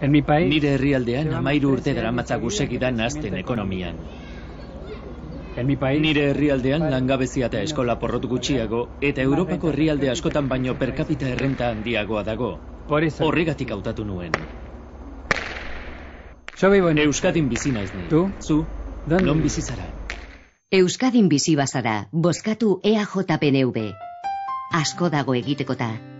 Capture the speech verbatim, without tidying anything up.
En mi país... Nire herrialdean amairu urte daramatzagu segidan hazten ekonomian. En mi país... Nire herrialdean langabezia eta eskola porrot gutxiago, eta Europako herrialde askotan baino per capita errenta handiagoa dago. Horregatik hautatu nuen. Euskadin bizi naiz ni. Tu? Zu? Non bizi zara? Euskadin bizi bazara, bozkatu E A J P N V. Asko dago egiteko ta.